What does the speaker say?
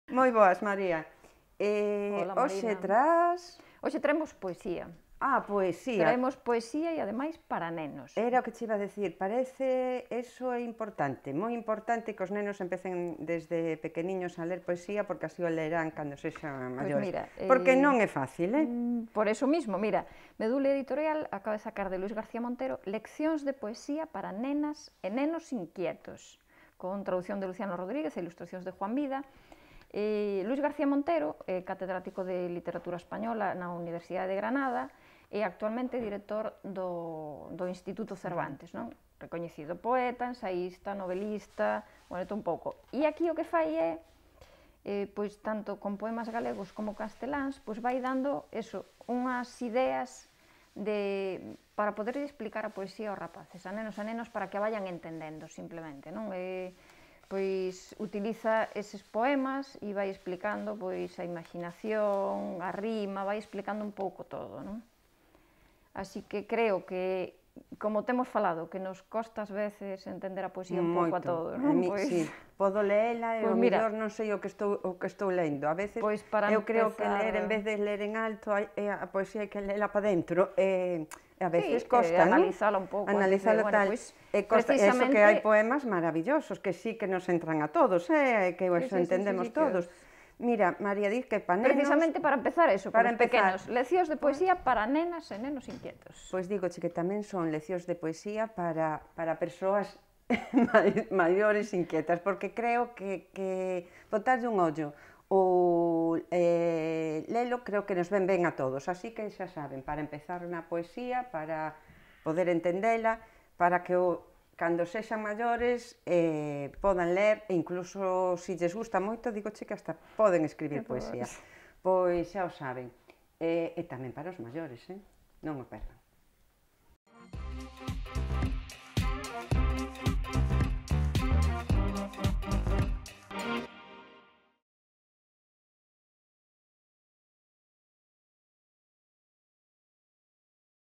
Moi boas, María. Hola, Hoxe Marina. tras... Hoxe traemos poesía. Poesía. Traemos poesía e, ademais, para nenos. Era o que che iba a decir, parece, eso é importante, moi importante que os nenos empecen desde pequeniños a ler poesía porque así o lerán cando sexan Pois maiores. mira, Porque non é fácil, por eso mismo, mira, Medula Editorial acaba de sacar de Luis García Montero Leccións de poesía para nenas e nenos inquietos, con traducción de Luciano Rodríguez e ilustracións de Juan Vida. Luis García Montero é catedrático de Literatura Española na Universidade de Granada e actualmente director do Instituto Cervantes, non? Recoñecido poeta, ensaísta, novelista, bueno, un pouco. E aquí o que fai é, pois tanto con poemas galegos como casteláns, pois vai dando eso, unhas ideas para poder explicar a poesía aos rapaces, a nenos para que a vayan entendendo simplemente, non? Pois utiliza eses poemas e vai explicando pois a imaginación, a rima, vai explicando un pouco todo, non? Así que creo que, como temos falado, que nos costa ás veces entender a poesía un pouco a todos, non? Sí, podo leela e o mellor non sei o que estou lendo. A veces eu creo que ler, en vez de ler en alto, a poesía hai que lela para dentro. A veces costa, non? Analizala un pouco. Analizala tal. Eso que hai poemas maravillosos, que sí que nos entran a todos, que os entendemos todos. Mira, María, diz que para nenos... Precisamente para empezar eso, para os pequenos. Leccións de poesía para nenas e nenos inquietos. Pois digoche que tamén son leccións de poesía para persoas maiores inquietas, porque creo que botarlle un ollo ou lelo creo que nos ven ben a todos, así que xa saben, para empezar na poesía, para poder entendela, para que cando sexan maiores podan ler e incluso se lles gusta moito, digoche que hasta poden escribir poesía. Pois xa o saben. E tamén para os maiores, non o perdan.